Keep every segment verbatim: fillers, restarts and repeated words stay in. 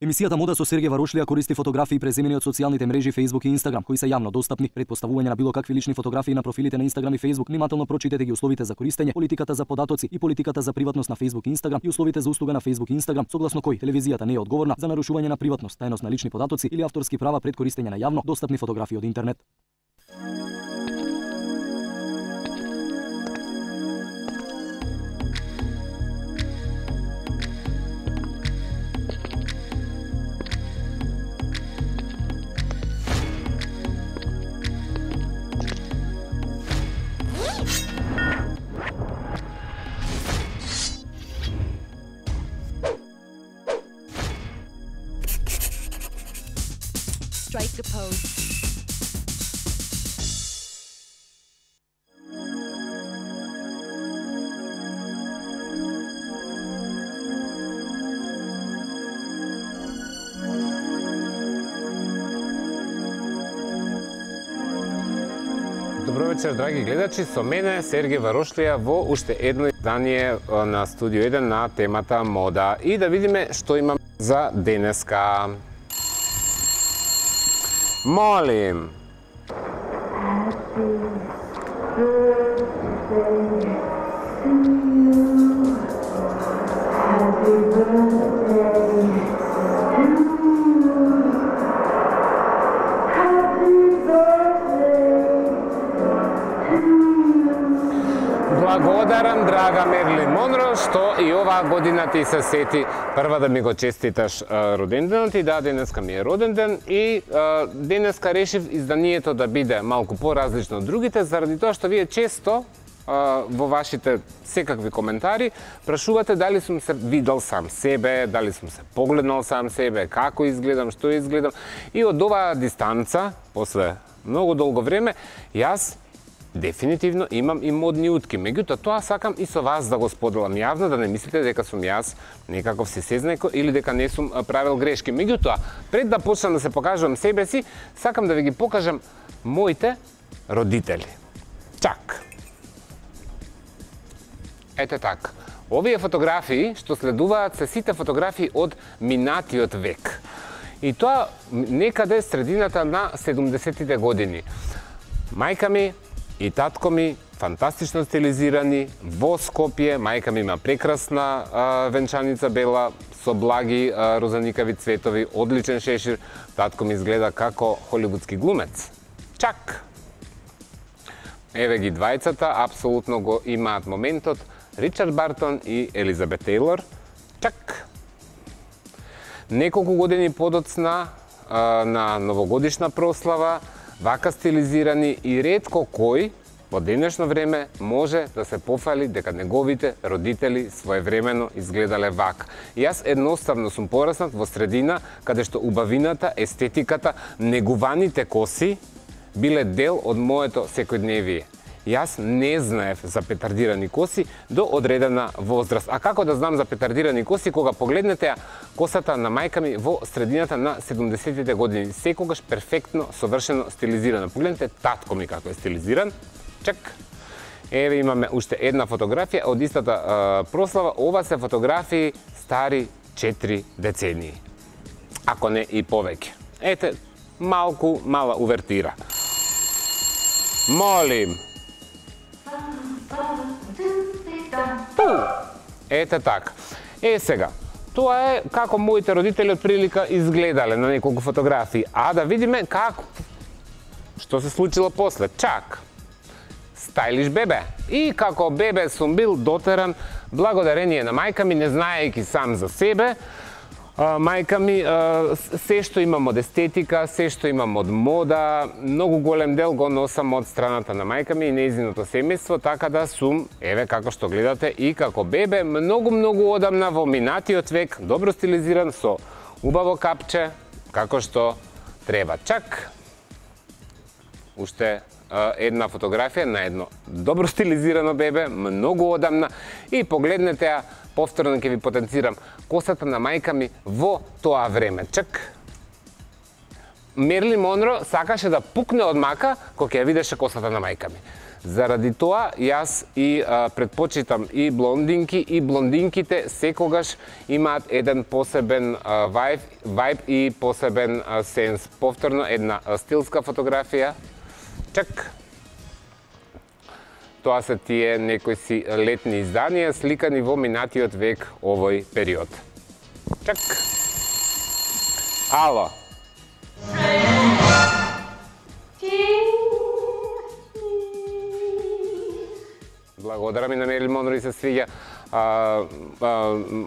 Емисијата Мода со Сергеј Варошлија користи фотографии преземени од социјалните мрежи Facebook и Instagram, кои се јавно достапни. Пред поставување на било какви лични фотографии на профилите на Instagram и Facebook, внимателно прочитете ги условите за користење, политиката за податоци и политиката за приватност на Facebook и Instagram и условите за услуга на Facebook и Instagram, согласно кои телевизијата не е одговорна за нарушување на приватност, тајност на лични податоци или авторски права пред користење на јавно достапни фотографии од интернет. Strike a pose. Добро вечер, драги гледачи, со мене Сергеј Варошлија во уште едно издание на Студио еден на темата мода. И да видиме што имам за денеска. Молим. Благодарам, драга Мерлин Монро, што и оваа година ти се сети прва да ми го честиташ роденденот. И да, денеска ми е роден ден и а, денеска решив изданието да биде малку поразлично од другите, заради тоа што вие често а, во вашите секакви коментари прашувате дали сум се видел сам себе, дали сум се погледнал сам себе, како изгледам, што изгледам. И од оваа дистанца, после многу долго време, јас дефинитивно имам и модни утки. Меѓутоа, тоа сакам и со вас да го споделам јавно, да не мислите дека сум јас некаков си сезнајко или дека не сум правил грешки. Меѓутоа, пред да почнам да се покажувам себе си, сакам да ви ги покажам моите родители. Чак. Ете така. Овие фотографии што следуваат се сите фотографии од минатиот век. И тоа некаде средината на седумдесеттите години. Мајка ми и татко ми фантастично стилизирани во Скопје. Мајка ми има прекрасна а, венчаница бела со благи а, розаникави цветови, одличен шешир. Татко ми изгледа како холивудски глумец. Чак! Еве ги двајцата, апсолутно го имаат моментот. Ричард Бартон и Елизабет Тейлор. Чак! Неколку години подоцна а, на новогодишна прослава, вака стилизирани и ретко кој во денешно време може да се пофали дека неговите родители своевремено изгледале вака. И јас едноставно сум пораснат во средина каде што убавината, естетиката, негуваните коси биле дел од моето секојдневие. Јас не знаев за петардирани коси до одредена возраст. А како да знам за петардирани коси кога погледнете ја косата на мајка ми во средината на седумдесеттите години, секогаш перфектно, совршено стилизирана. Погледнете татко ми како е стилизиран. Чак. Еве имаме уште една фотографија од истата а, прослава. Ова се фотографии стари четири децении. Ако не и повеќе. Ете, малку мала увертира. Молим. Ете така. Е сега, тоа е како моите родители од прилика изгледале на неколку фотографии. А да видиме како, што се случило после. Чак. Стајлиш бебе. И како бебе сум бил дотеран благодарение на мајка ми, не знаејќи сам за себе. А, мајка ми, а, се што имам од естетика, се што имам од мода, многу голем дел го носам од страната на мајка ми и нејзиното семејство, така да сум, еве како што гледате, и како бебе, многу-многу одамна во минатиот век, добро стилизиран, со убаво капче, како што треба. Чак, уште а, една фотографија на едно добро стилизирано бебе, многу одамна, и погледнете ја, повторно ќе ви потенцирам косата на мајка ми во тоа време. Чак. Мерлин Монро сакаше да пукне од мака кога ќе ја видеше косата на мајка ми. Заради тоа, јас и а, предпочитам и блондинки, и блондинките секогаш имаат еден посебен а, вајб, вајб и посебен а, сенс. Повторно, една а, стилска фотографија. Чак. Тоа се тие некои си летни изданија, сликани во минатиот век овој период. Чак. Ало. Благодарам и на Мерил Монро и се свиѓа. А, а,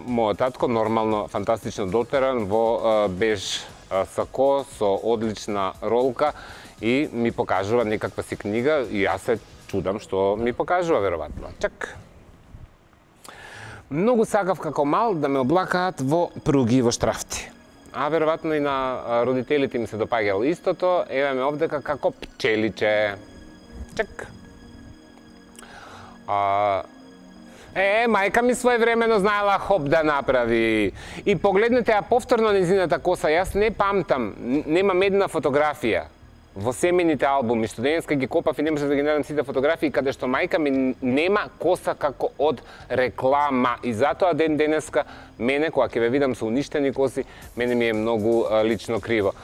мојот татко нормално фантастично дотеран во а, беж а, сако со одлична ролка и ми покажува некаква си книга и јас се чудам што ми покажува веројатно. Чак. Многу сакав како мал да ме облакаат во пруги и во штрафти. А веројатно и на родителите ми се допаѓало истото. Еве ме овдека како пчеличе. Чак. А, е, мајка ми своевремено знаела хоп да направи. И погледнете ја повторно низината коса. Јас не памтам, немам една фотографија во семените албуми, што денеска ги копав и не можев да ги најдам сите фотографии, каде што мајка ми нема коса како од реклама. И затоа ден денеска, мене, кога ќе ве видам со уништени коси, мене ми е многу а, лично криво.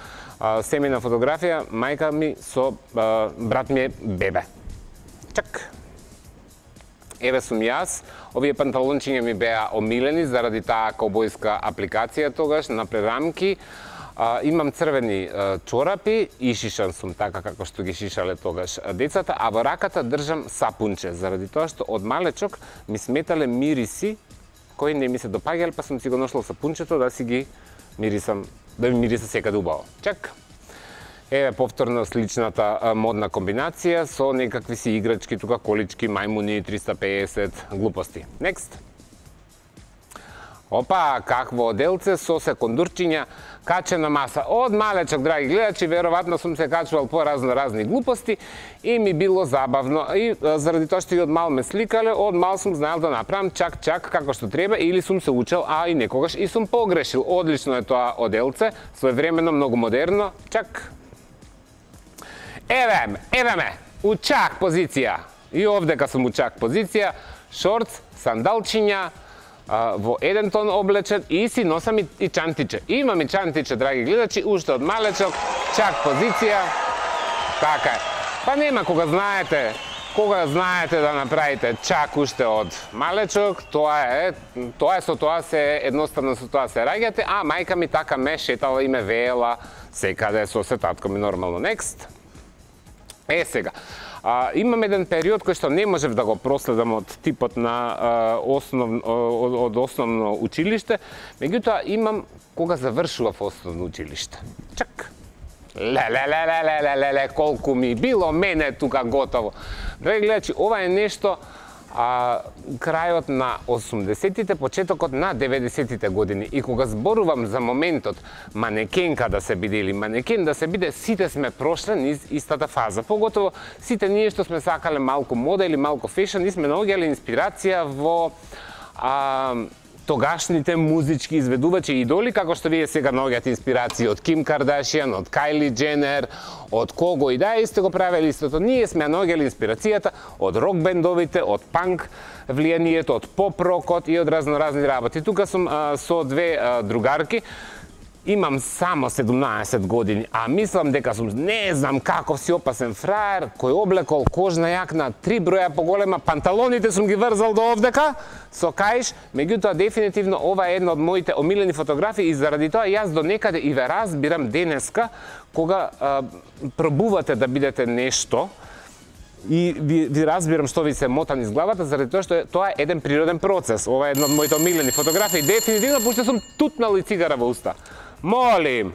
А, семена фотографија, мајка ми со а, брат ми е бебе. Чак. Еве сум јас, овие панталончиња ми беа омилени заради таа каубојска апликација тогаш на прерамки. А, имам црвени а, чорапи и шишан сум така како што ги шишале тогаш децата, а во раката држам сапунче, заради тоа што од малечок ми сметале мириси кои не ми се допаѓале, па сум си го ношло сапунчето да си ги мирисам, да ми мириса секаде убаво. Чак. Еве повторно сличната а, модна комбинација со некакви си играчки, тука колички, мајмуни, триста пеесет, глупости. Next. Опа, какво оделце со секундурчиња, качена маса. Од малечок, драги гледачи, веројатно сум се качувал по разно-разни глупости и ми било забавно. И а, заради тоа што и од мал ме сликале, од мал сум знаел да направам чак-чак како што треба или сум се учел, а и некогаш и сум погрешил. Одлично е тоа оделце, своевремено, многу модерно. Чак. Еве, еве ме, у чак позиција. И овдека сум у чак позиција, шортс, сандалчиња, а, во еден тон облечен и си носам и, и чантиче. Имам и чантиче, драги гледачи, уште од малечок, чак позиција. Така е. Па нема кога знаете, кога знаете да направите чак уште од малечок, тоа е, тоа е со тоа се едноставно со тоа се раѓате, а мајка ми така ме шетала и ме веела секаде со се татко ми нормално. Next. Е сега, а, имам еден период кој што не можев да го проследам од типот на а, основ, од, од основно училиште, меѓутоа имам кога завршував основно училиште. Чак. Ле, ле, ле, ле, ле, ле, ле, ле, колку ми било мене тука готово. Драги гледачи, ова е нешто а, крајот на осумдесетите, почетокот на деветдесетите години. И кога зборувам за моментот манекенка да се биде или манекен да се биде, сите сме прошле низ истата фаза. Поготово сите ние што сме сакале малку мода или малку фешн, ние сме наоѓале инспирација во а, тогашните музички изведувачи и идоли, како што вие сега наоѓате инспирација од Ким Кардашијан, од Кайли Дженер, од кого и да, и сте го правеле истото. Ние сме наоѓале инспирацијата од рок бендовите, од панк влијанието, од поп-рокот и од разноразни работи. Тука сум а, со две а, другарки. Имам само седумнаесет години, а мислам дека сум не знам каков си опасен фраер, кој облекол кожна јакна три броја поголема, панталоните сум ги врзал до овдека со каиш, меѓутоа дефинитивно ова е една од моите омилени фотографии и заради тоа јас до некаде и ве разбирам денеска кога а, пробувате да бидете нешто и ви, ви разбирам што ви се мота низ главата, заради тоа што е, тоа е еден природен процес. Ова е една од моите омилени фотографии, дефинитивно, пошто сум тутнал и цигара во уста. Молим.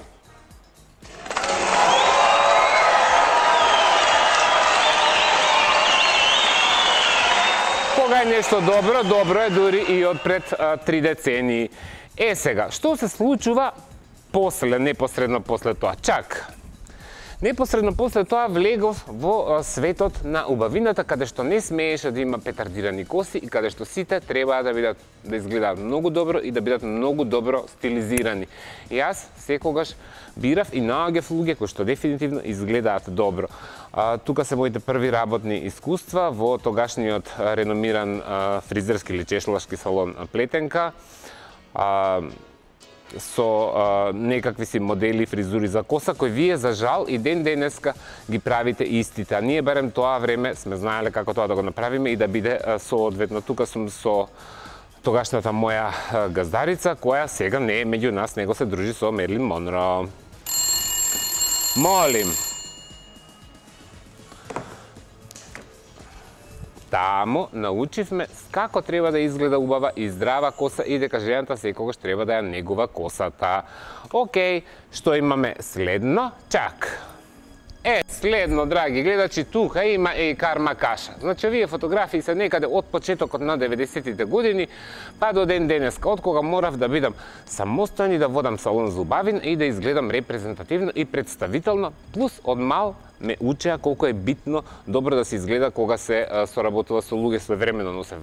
Кога е нешто добро, добро е дури и од пред а, три децении. Е сега, што се случува после, непосредно после тоа? Чак. Непосредно после тоа влегов во светот на убавината, каде што не смееше да има петардирани коси и каде што сите треба да бидат да изгледаат многу добро и да бидат многу добро стилизирани. И јас секогаш бирав и наоѓав луѓе кои што дефинитивно изгледаат добро. А, тука се моите први работни искуства во тогашниот реномиран а, фризерски или чешлашки салон Плетенка. А, со а, некакви си модели фризури за коса, кои вие за жал и ден денеска ги правите истите. А ние барем тоа време сме знаеле како тоа да го направиме и да биде а, соодветно. Тука сум со тогашната моја а, газдарица, која сега не е меѓу нас, него се дружи со Мерлин Монро. Молим. Таму научивме како треба да изгледа убава и здрава коса и дека жената секогаш треба да ја негува косата. Океј, што имаме следно? Чак. Е, следно, драги гледачи, тука има и карма каша. Значи, овие фотографии се некаде од почетокот на деветдесетите години, па до ден денеска, од кога морав да бидам самостоен и да водам салон за убавин и да изгледам репрезентативно и представително, плюс од мал ме учеа колку е битно добро да се изгледа кога се соработува со луѓе своевремено носев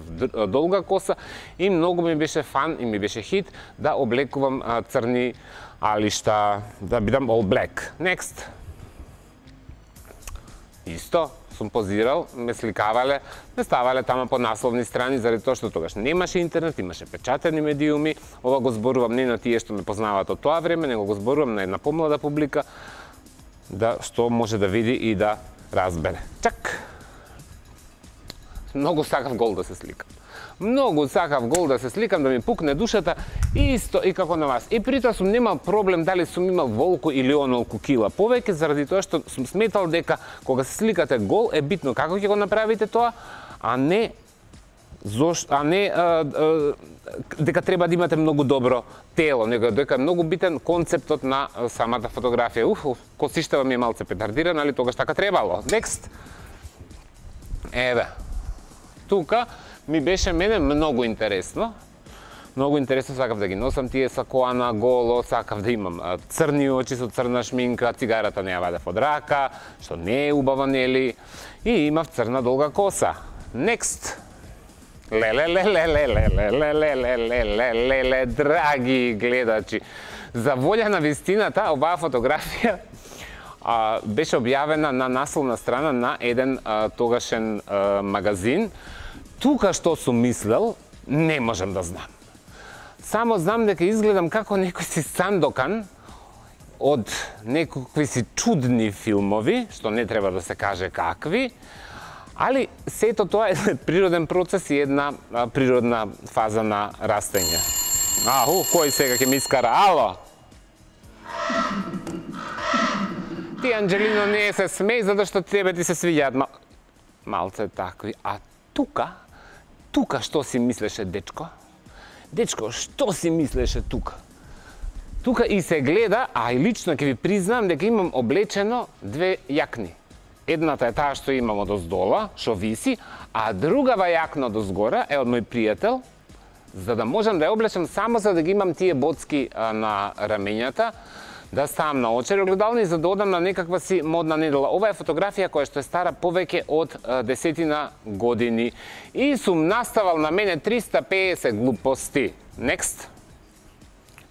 долга коса и многу ми беше фан и ми беше хит да облекувам црни алишта, да бидам all black. Next. Исто сум позирал, ме сликавале, ме ставале тама по насловни страни, заради тоа што тогаш немаше интернет, имаше печатени медиуми. Ова го зборувам не на тие што ме познаваат од тоа време, него го зборувам на една помлада публика, да што може да види и да разбере. Чак! Многу сакав гол да се сликам. Многу сакав гол да се сликам, да ми пукне душата, исто и како на вас. И при тоа сум немал проблем дали сум имал волку или онолку кила повеќе, заради тоа што сум сметал дека кога се сликате гол е битно како ќе го направите тоа, а не Зош, а не а, а, дека треба да имате многу добро тело, него дека е многу битен концептот на самата фотографија. Уф, уф косиштава ми е малце петардирана, али тогаш така требало. Next. Еве. Тука ми беше мене многу интересно. Многу интересно, сакав да ги носам тие сакоа на голо, сакав да имам а, црни очи со црна шминка, цигарата не ја вадев од рака, што не е убава, нели, и имав црна долга коса. Next. Леле-ле-ле-ле-ле-ле-ле-ле-ле-ле-ле, драги гледачи. За волја на вистината, оваа фотографија а, беше објавена на насловна страна на еден а, тогашен а, магазин. Тука што сум мислел, не можам да знам. Само знам дека изгледам како некој си Сандокан од некакви си чудни филмови, што не треба да се каже какви, али сето тоа е природен процес и една а, природна фаза на растење. Аху, кој сега ќе ми искара? Ало? Ти, Анджелино, не се смеј, затоа што тебе ти се свиѓаат мал... малце такви. А тука, тука што си мислеше, дечко? Дечко, што си мислеше тука? Тука и се гледа, а и лично ќе ви признам дека имам облечено две јакни. Едната е таа што имам од оздола, што виси, а другава јакна од озгора е од мој пријател, за да можам да ја облечам само за да ги имам тие боцки а, на рамењата, да ставам на очари огледални, за да одам на некаква си модна недела. Ова е фотографија која што е стара повеќе од а, десетина години. И сум наставал на мене триста пеесет глупости. Next.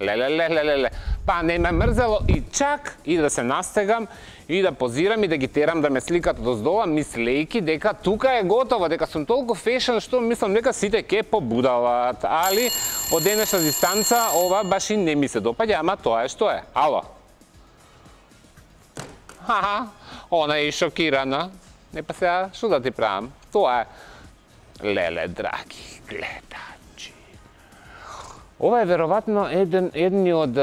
Леле-леле-леле. Па не ме мрзело и чак и да се настегам и да позирам и да ги терам да ме сликат од оздола, мислејки дека тука е готово, дека сум толку фешен што мислам дека сите ке побудалат. Али од денешна дистанца ова баш и не ми се допаѓа, ама тоа е што е. Ало. Ха-ха, она е шокирана. Не па сега, што да ти правам? Тоа е. Леле, драги гледачи. Ова е веројатно еден, едни од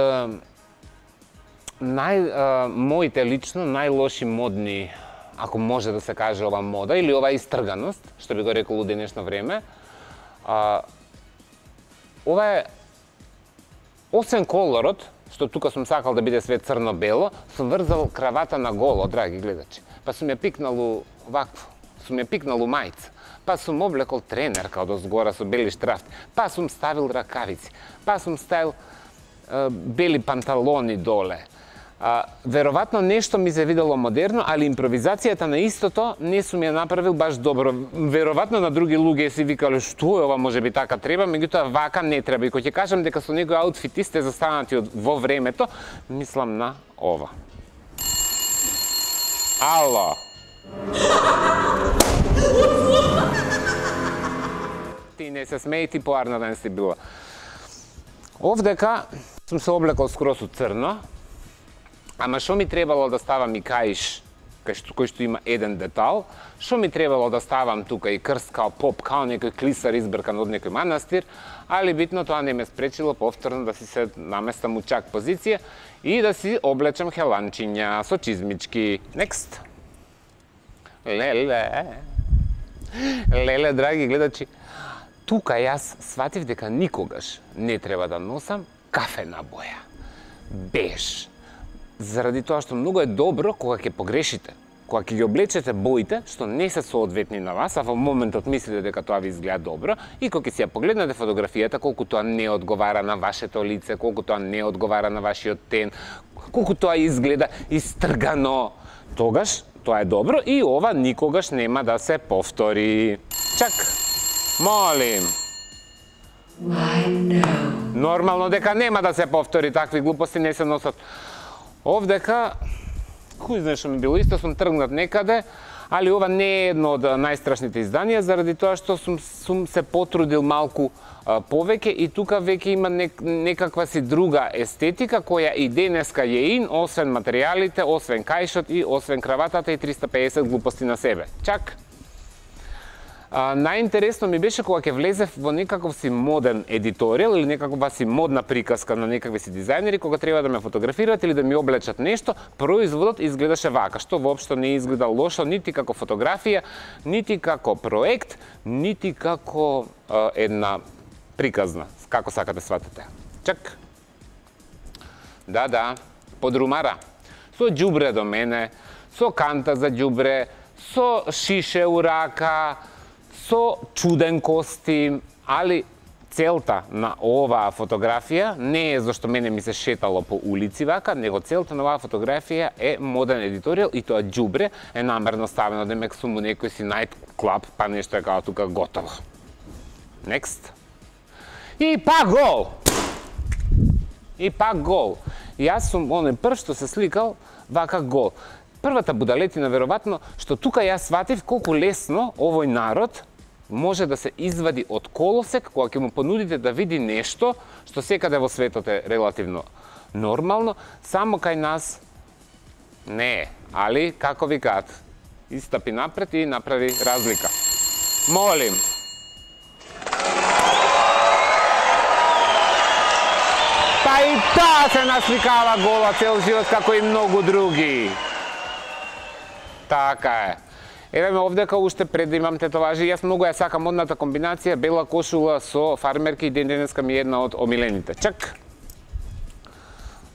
нај, а, моите лично најлоши модни, ако може да се каже ова мода, или ова истрганост, што би го рекол у денешно време. А, ова е, освен колорот, што тука сум сакал да биде све црно-бело, сум врзал кравата на голо, драги гледачи. Па сум ја пикнал вакво, сум ја пикнал мајца. Па сум облекол тренерка од озгора со бели штрафти, па сум ставил ракавици, па сум ставил е, бели панталони доле. А, веројатно нешто ми се видело модерно, али импровизацијата на истото не сум ја направил баш добро. Веројатно на други луѓе си викале што е ова, можеби така треба, меѓутоа вака не треба. И кога ќе кажам дека со некои аутфити сте застанати во времето, мислам на ова. Ало. Ти не се смеј, ти поарна ден си била. Овдека сум се облекол скроз у црно, ама што ми требало да ставам и каиш, кој што има еден детал, што ми требало да ставам тука и крст као поп, као некој клисар избркан од некој манастир, али битно тоа не ме спречило повторно да си се наместам у чак позиција и да си облечам хеланчиња со чизмички. Next. Леле. Леле, драги гледачи, тука јас сватив дека никогаш не треба да носам кафена боја. Беж. Заради тоа што многу е добро кога ќе погрешите, кога ќе ги облечете боите што не се соодветни на вас, а во моментот мислите дека тоа ви изгледа добро, и кога ќе си ја погледнете фотографијата, колку тоа не одговара на вашето лице, колку тоа не одговара на вашиот тен, колку тоа изгледа истргано, тогаш тоа е добро и ова никогаш нема да се повтори. Чак, молим. Нормално дека нема да се повтори, такви глупости не се носат. Овдека, кој знае што ми било, исто сум тргнат некаде, али ова не е едно од најстрашните изданија, заради тоа што сум, сум се потрудил малку а, повеќе и тука веќе има нек, некаква си друга естетика, која и денеска е ин, освен материјалите, освен кајшот и освен краватата и триста и педесет глупости на себе. Чак! А, најинтересно ми беше кога ќе влезев во некаков си моден едиторијал или некаква си модна приказка на некакви си дизајнери, кога треба да ме фотографираат или да ми облечат нешто, производот изгледаше вака, што воопшто не изгледа лошо, нити како фотографија, нити како проект, нити како а, една приказна, како сакате сватите. Чак. Да, да, подрумара. Со ѓубре до мене, со канта за ѓубре, со шише у рака, со чуден костим, али целта на оваа фотографија не е зашто мене ми се шетало по улици вака, него целта на оваа фотографија е моден едиторијал и тоа ѓубре е намерно ставено, демек сум у некој си најт клаб, па нешто е као тука готово. Next. И пак гол! И пак гол. Јас сум оној прв што се сликал вака гол. Првата будалетина веројатно што тука јас сватив колку лесно овој народ може да се извади од колосек кога ќе му понудите да види нешто што секаде во светот е релативно нормално, само кај нас не е. Али, како викаат, истапи напред и направи разлика. Молим. Па и таа се насликава гола цел живот како и многу други. Така е. Еве ме овдека уште пред да имам тетоважи, јас многу ја сакам модната комбинација бела кошула со фармерки и ден денеска ми е една од омилените. Чак!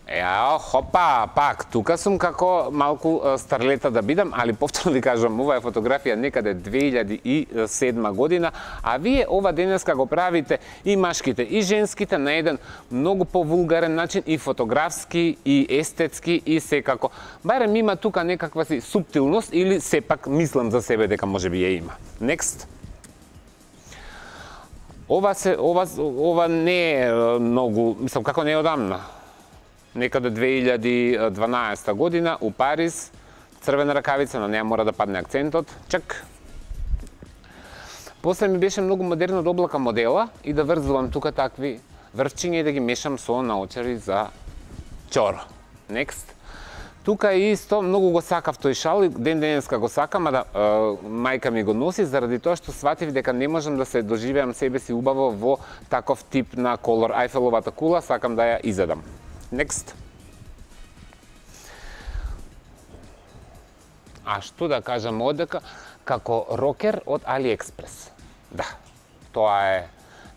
Еа, хопа, пак, тука сум како малку старлета да бидам, али повторно ви кажам, ова е фотографија некаде две илјади и седма година, а вие ова денеска го правите и машките и женските на еден многу повулгарен начин, и фотографски, и естетски, и секако. Барем има тука некаква си суптилност, или сепак мислам за себе дека можеби ја има. Next. Ова се, ова, ова не е многу, мислам, како не е одамна. Некаде две илјади и дванаесета година у Париз, црвена ракавица, на неа мора да падне акцентот. Чак. После ми беше многу модерно да облака модела и да врзувам тука такви врвчиња и да ги мешам со наочари за чоро. Next. Тука исто многу го сакав тој шал и ден денеска го сакам, а да е, мајка ми го носи заради тоа што сватив дека не можам да се доживеам себе си убаво во таков тип на колор. Ајфеловата кула сакам да ја изедам. Next. А што да кажам одека, како рокер од AliExpress. Да, тоа е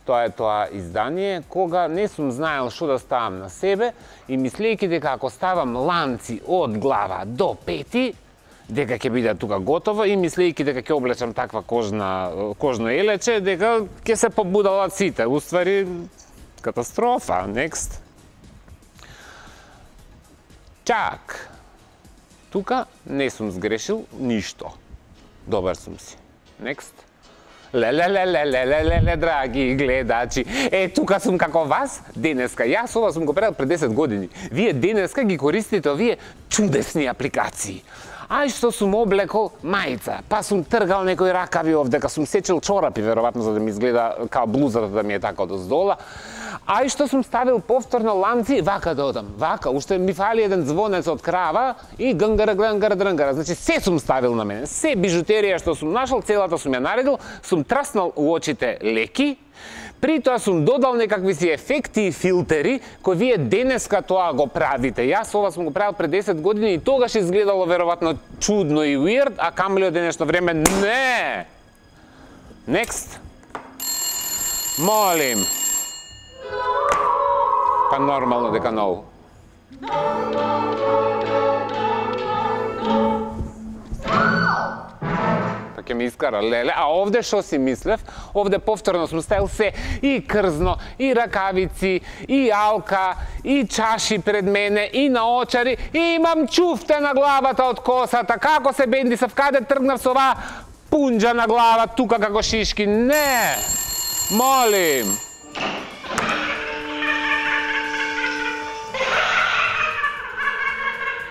тоа е тоа издание, кога не сум знаел што да ставам на себе и мислејќи дека ако ставам ланци од глава до пети, дека ќе биде тука готово и мислејќи дека ќе облечам таква кожна, кожно елече, дека ќе се побудалат сите. Уствари, катастрофа. Next. Чак. Тука не сум сгрешил ништо. Добар сум си. Next. Леле, леле, леле, леле, драги гледачи. Е, тука сум како вас, денеска. Јас ова сум го правил пред десет години. Вие денеска ги користите овие чудесни апликации. Ај што сум облекол мајца, па сум тргал некои ракави овдека, сум сечел чорапи, веројатно, за да ми изгледа као блузата да ми е така доздола. Ај што сум ставил повторно ланци, вака да одам, вака, уште ми фали еден звонец од крава и гнгара, гнгара, дрнгара. Значи, се сум ставил на мене, се бижутерија што сум нашол, целата сум ја наредил, сум траснал у очите леки, при тоа сум додал некакви си ефекти и филтери, кои вие денеска тоа го правите. Јас ова сум го правил пред десет години и тогаш изгледало веројатно чудно и weird, а камели од денешно време не. Next. Молим. Па нормално дека ново. Па ќе ми искара леле, а овде што си мислев? Овде повторно сум ставил се и крзно, и ракавици, и алка, и чаши пред мене, и наочари, и имам чуфте на главата од косата. Како се бендисав, каде тргнав со оваа пунџа на глава, тука како шишки? Не! Молим!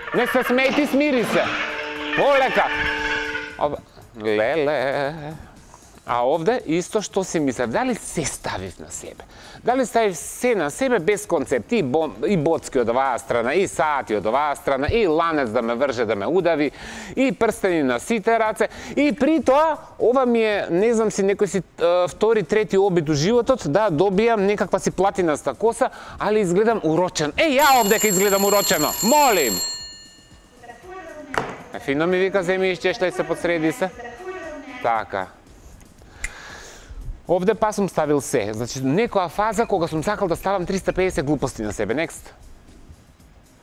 Не се смејти, смири се. Полека. Леле. А овде исто што си мислев, дали се ставив на себе? Дали ставив се на себе без концепт? И, бо, и боцки од оваа страна, и сати од оваа страна, и ланец да ме врже, да ме удави, и прстени на сите раце. И при тоа, ова ми е, не знам си, некој си е, втори, трети обид у животот, да добијам некаква си платинаста коса, али изгледам урочен. Е, ја овде ке изгледам урочено. Молим! Фино ми вика, земи исчештай се подсреди се. Така. Овде па сум ставил се. Значи, некоја фаза кога сум сакал да ставам триста и педесет глупости на себе. Next.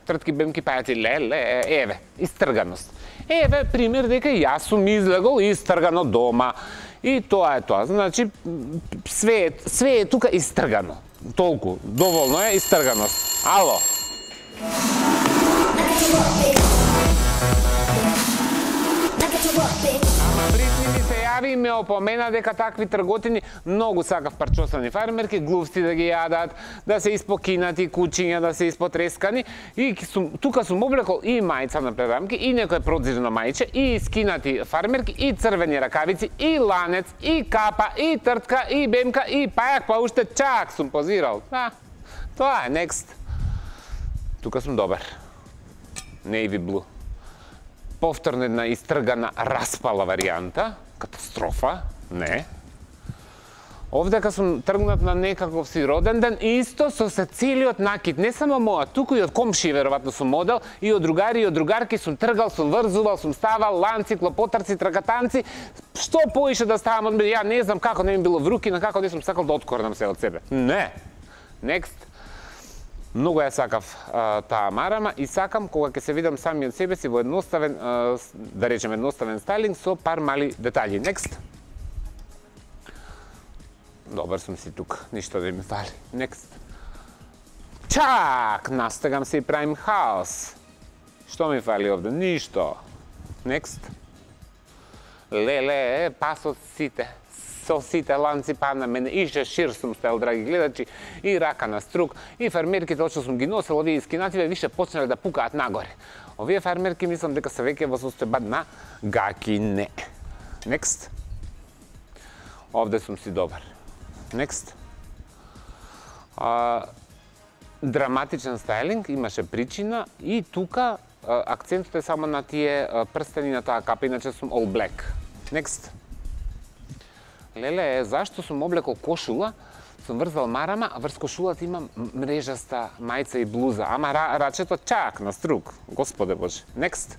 Тртки, бемки, пајаци, леле, еве, истрганост. Еве, пример дека јас сум излегол истргано дома. И тоа е тоа. Значи, све, све е тука истргано. Толку. Доволно е истрганост. Ало. Ама Бритни ми се јави и ме опомена дека такви трготини многу сакав парчосани фармерки, глувци да ги јадат, да се испокинати, кучиња да се испотрескани. И сум, тука сум облекол и мајца на прерамки, и некој продзирно мајче, и скинати фармерки, и црвени ракавици, и ланец, и капа, и тртка, и бемка, и пајак, па уште чак сум позирал. Да, тоа е, next. Тука сум добар. Navy blue. Повторно една истргана, распала варијанта, катастрофа, не. Овдека сум тргнат на некаков си роден ден, исто со се целиот накид, не само моја, туку и од комши, веројатно сум модел, и од другари, и од другарки сум тргал, сум врзувал, сум ставал, ланци, клопотарци, тракатанци, што поише да ставам од мене, ја не знам како не ми било вруки, на како не сум сакал да откорнам се од себе. Не. Next. Многу ја сакав а, таа марама и сакам кога ќе се видам сами од себе си во едноставен, а, да речем едноставен стайлинг со пар мали детали. Next. Добар сум си тук, ништо да ми фали. Next. Чак, настигам се и правим хаос. Што ми фали овде? Ништо. Next. Леле, пас од сите. Со сите ланци па на мене, и шешир сум ставил, драги гледачи, и рака на струк, и фармерките, од што сум ги носил, овие искинативе, више почнале да пукаат нагоре. Овие фармерки, мислам дека се веќе во состојба на гаки, не. Next. Овде сум си добар. Next. А, драматичен стайлинг, имаше причина, и тука а, акцентот е само на тие а, прстени на таа капа, иначе сум all black. Next. Леле, зашто сум облекол кошула, сум врзал марама, а врз кошулата имам мрежаста мајца и блуза, ама ра, рачето чак на струк, господе Боже. Next.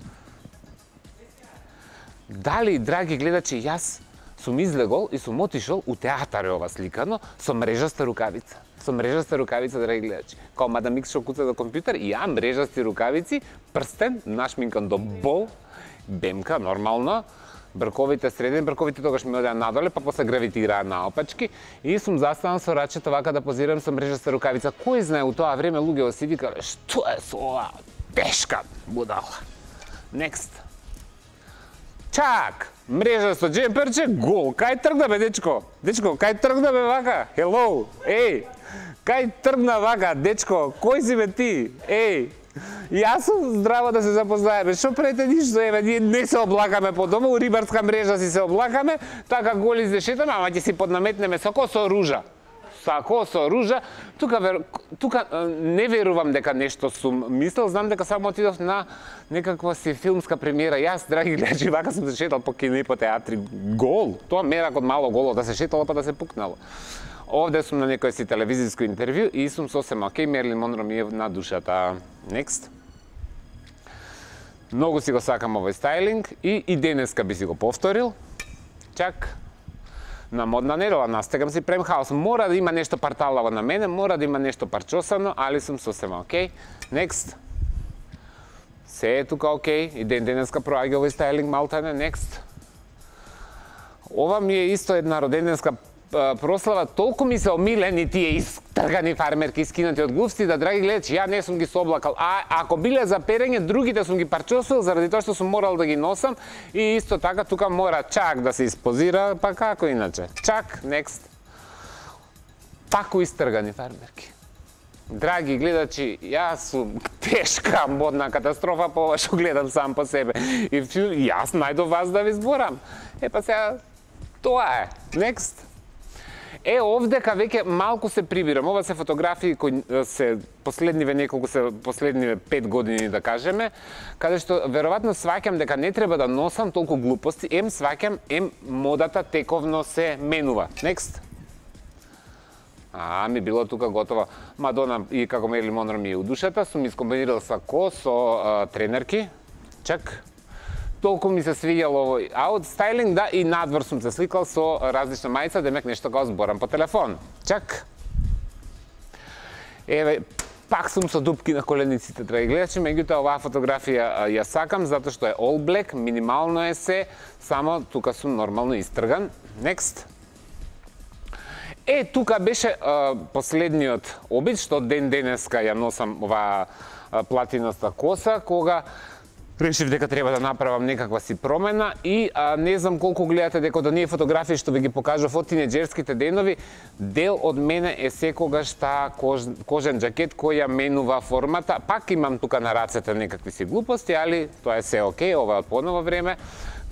Дали, драги гледачи, јас сум излегол и сум отишол у театар е ова сликано со мрежаста рукавица. Со мрежаста рукавица, драги гледачи. Као мадам Икс што куца до компјутер, и ја мрежасти рукавици, прстен, нашминкан до бол, бемка, нормално, брковите средни, брковите тогаш ми одеа надоле, па после гравитираа наопачки и сум застанал со рачето вака да позирам со мрежаста рукавица. Кој знае, у тоа време луѓето си викале, што е со ова тешка будала. Next. Чак, мрежа со джемперче, гол. Кај тргна бе, дечко? Дечко, кај тргна бе вака? Hello, еј. Кај тргна вака, дечко? Кој си бе ти? Еј. Јас сум здраво да се запознаеме. Што прете ништо, еве, ние не се облакаме по дома, у рибарска мрежа си се облакаме, така голи се шетаме, ама ќе си поднаметнеме сако со ружа. Сако со ружа. Тука, вер... тука не верувам дека нешто сум мислел, знам дека само отидов на некаква си филмска премиера. Јас, драги гледачи, вака сум се шетал по кино и по театри. Гол! Тоа мерак од мало голо, да се шетало па да се пукнало. Овде сум на некој си телевизиско интервју и сум сосема окей, Мерлин Монро ми е на душата. Next. Многу си го сакам овој стайлинг и и денеска би си го повторил. Чак. На модна недела настегам си Prime House. Мора да има нешто парталаво на мене, мора да има нешто парчосано, али сум сосема окей. Next. Се е тука окей. И ден денеска проаѓа овој стайлинг малтане. Next. Ова ми е исто една роденденска прослава, толку ми се омилени тие истргани фармерки искинати од глувци, да, драги гледачи, ја не сум ги соблакал. А ако биле за перење, другите сум ги парчосил заради тоа што сум морал да ги носам и исто така тука мора чак да се испозира, па како иначе. Чак, next. Тако истргани фармерки. Драги гледачи, јас сум тешка модна катастрофа по ова што гледам сам по себе. И јас најдов вас да ви зборам. Е па сега тоа е. Next. Е, овдека веќе малку се прибирам. Ова се фотографии кои се последниве неколку се последниве пет години да кажеме, каде што веројатно сваќам дека не треба да носам толку глупости, ем сваќам, ем модата тековно се менува. Next. А, ми било тука готово. Мадона и како Мерлин Монро ми е у душата, сум искомбинирал сако со а, тренерки. Чак. Толку ми се свиѓало овој аут стайлинг, да, и надвор сум се сликал со различна мајца, демек нешто го зборам по телефон. Чак. Еве, пак сум со дупки на колениците, драги гледачи, меѓутоа оваа фотографија ја сакам затоа што е all black, минимално е се, само тука сум нормално истрган. Next. Е, тука беше а, последниот обид, што ден денеска ја носам оваа платинаста коса, кога решив дека треба да направам некаква си промена и а, не знам колку гледате дека од оние фотографии што ви ги покажав од тинеџерските денови, дел од мене е секогаш таа кож, кожен джакет кој ја менува формата. Пак имам тука на рацете некакви си глупости, али тоа е се окей, ова е од поново време.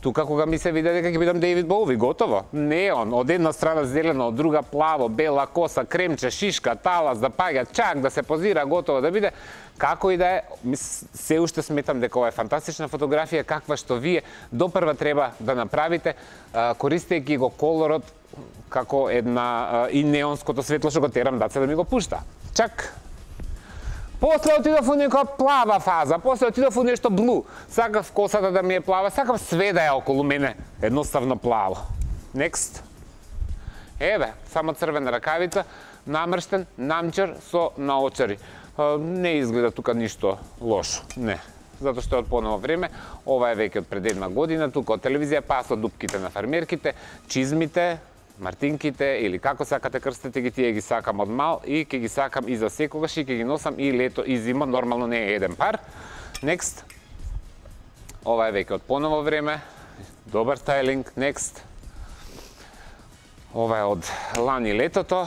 Тука кога ми се виде дека ќе бидам Дејвид Боуи, готово. Неон, од една страна зелено, од друга плаво, бела коса, кремче, шишка, талас, да паѓа, чак да се позира, готово да биде. Како и да е, се уште сметам дека ова е фантастична фотографија, каква што вие допрва треба да направите, користејќи го колорот како една и неонското светло што го терам даце да ми го пушта. Чак. После отидов у некоја плава фаза, после отидов у нешто блу. Сакав косата да ми е плава, сакав све да е околу мене, едноставно плаво. Next. Еве, само црвена ракавица, намрштен, намчер со наочари. Не изгледа тука ништо лошо, не. Затоа што е од поново време, ова е веќе од пред една година, тука од телевизија, па со дупките на фармерките, чизмите, мартинките или како сакате крстете ги, тие ги сакам од мал и ќе ги сакам и за секогаш и ќе ги носам и лето и зима, нормално не е еден пар. Next. Ова е веќе од поново време, добар стайлинг. Next. Ова е од лани летото.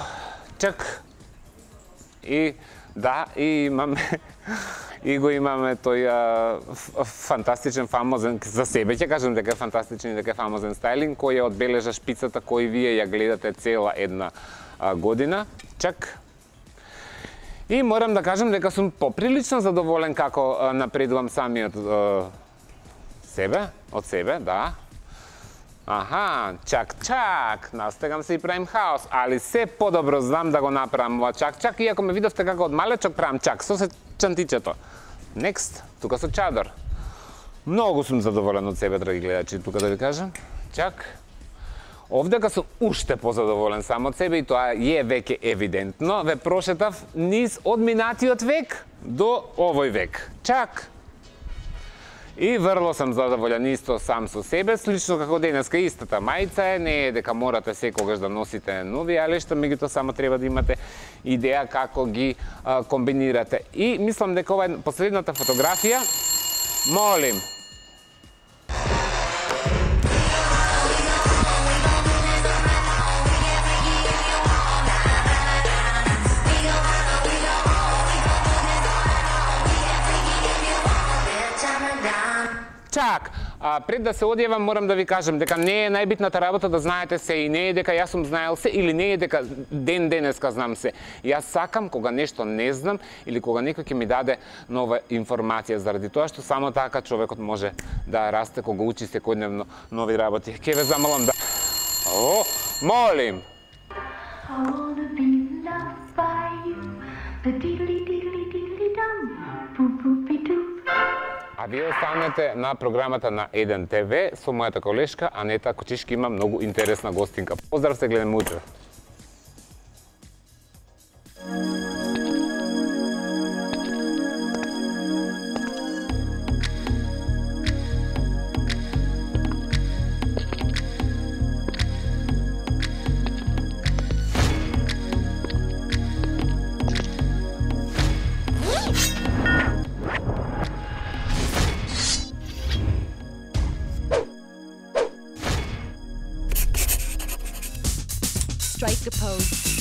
Чак. И да, и имаме и го имаме тој а, фантастичен, фамозен, за себе ќе кажам дека е фантастичен и дека е фамозен стайлинг, кој ја одбележа шпицата кој вие ја гледате цела една а, година. Чак. И морам да кажам дека сум поприлично задоволен како а, напредувам самиот а, себе, од себе, да. Аха, чак, чак, настегам се и Prime House, али се подобро знам да го направам ова чак, чак, иако ме видовте како од малечок правам чак, со се чантичето. Next, тука со чадор. Многу сум задоволен од себе, драги гледачи, тука да ви кажам. Чак. Овдека сум уште позадоволен сам од себе и тоа е веќе евидентно. Ве прошетав низ од минатиот век до овој век. Чак. И врло сам задоволен исто сам со себе, слично како денеска истата мајца е, не е дека морате секогаш да носите нови алешта, меѓутоа само треба да имате идеја како ги а, комбинирате. И мислам дека ова е последната фотографија. Молим. Чак, а, пред да се одјавам морам да ви кажам дека не е најбитната работа да знаете се и не е дека јас сум знаел се или не е дека ден денеска знам се. Јас сакам кога нешто не знам или кога некој ќе ми даде нова информација, заради тоа што само така човекот може да расте кога учи секојдневно нови работи. Ке ве замолам да... О, молим! А вие останете на програмата на еден те ве со мојата колешка Анета Кочишки, има многу интересна гостинка. Поздрав, се гледаме утре. Strike a pose.